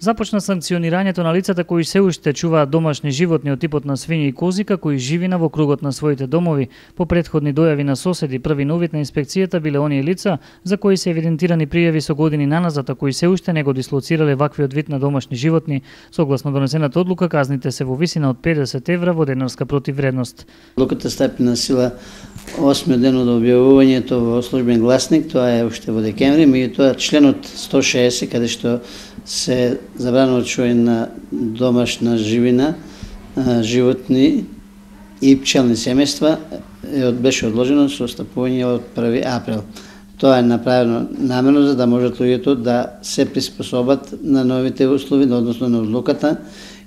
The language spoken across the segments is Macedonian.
Започна санкционирањето на лицата кои се уште чуваат домашни животни од типот на свињи и кози, како и живина во кругот на своите домови. По претходни дојави на соседи, први новит на инспекцијата биле оние лица за кои се евидентирани пријави со години наназад, а кои се уште не го дислоцирале ваквиот вид на домашни животни. Согласно донесената одлука, казните се во висина од 50 евра во денарска противвредност. Одлуката стапи на сила 8 ден од објавувањето во службен гласник, тоа е уште во декември, меѓутоа членот 160, каде што се забранува чување на домашна живина, животни и пчелни семејства, беше одложено со стапување од 1 април. Тоа е направено намерно за да можат луѓето да се приспособат на новите услови, односно на одлуката,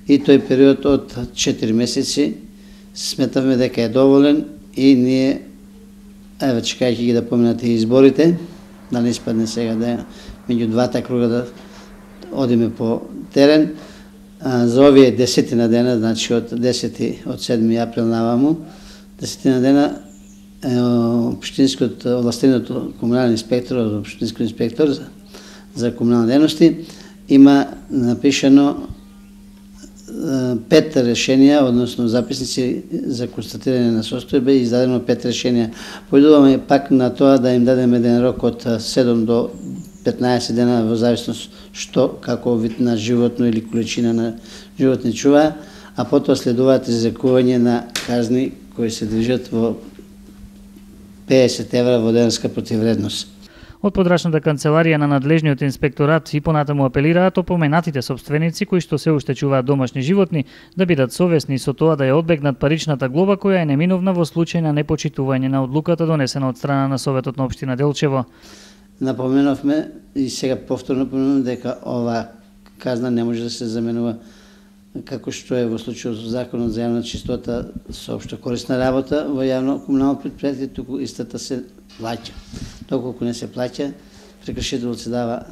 и тој период од 4 месеци сметавме дека е доволен и ние, еве чекајќи ги да поминат и изборите, да не испадне сега да меѓу двата круга да одиме по терен. За овие 10 дена, значи од 7 април наваму, 10 дена, општинскиот овластениот комунален инспектор, општинскиот инспектор за комунални дејности има напишано 5 решенија, односно записници за констатирање на состојба и издадено 5 решенија. Поидуваме пак на тоа да им дадеме еден рок од 7 до 15 дена во зависност што како вид на животно или количина на животни чува, а потоа следуваат изрекување на казни кои се движат во 50 евра во денарска противвредност. Од подрачната канцеларија на надлежниот инспекторат и понатаму апелираат опоменатите сопственици кои што се уште чуваат домашни животни да бидат совесни со тоа да ја одбегнат паричната глоба која е неминовна во случај на непочитување на одлуката донесена од страна на Советот на општина Делчево. Напоменавме и сега повторно напоменуваме дека ова казна не може да се заменува како што е во случајот со Законот за јавна чистота со општа корисна работа во јавно комунално претпријатие, туку истата се плаќа. Доколку не се плаќа, прекршителот се дава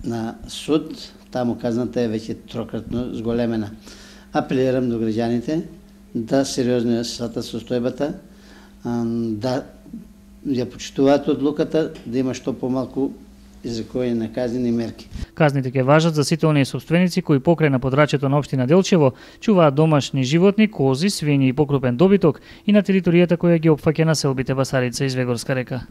на суд, таму казната е веќе трократно зголемена. Апелирам до граѓаните да сериозно ја сватат состојбата, да ја почитуваат одлуката, да има што помалку изрекување на казнени мерки. Казните ќе важат за сите оние сопственици кои покрај на подрачјето на општина Делчево чуваат домашни животни, кози, свињи и покрупен добиток и на територијата која ги опфаќа населбите Басарица и Звегорска река.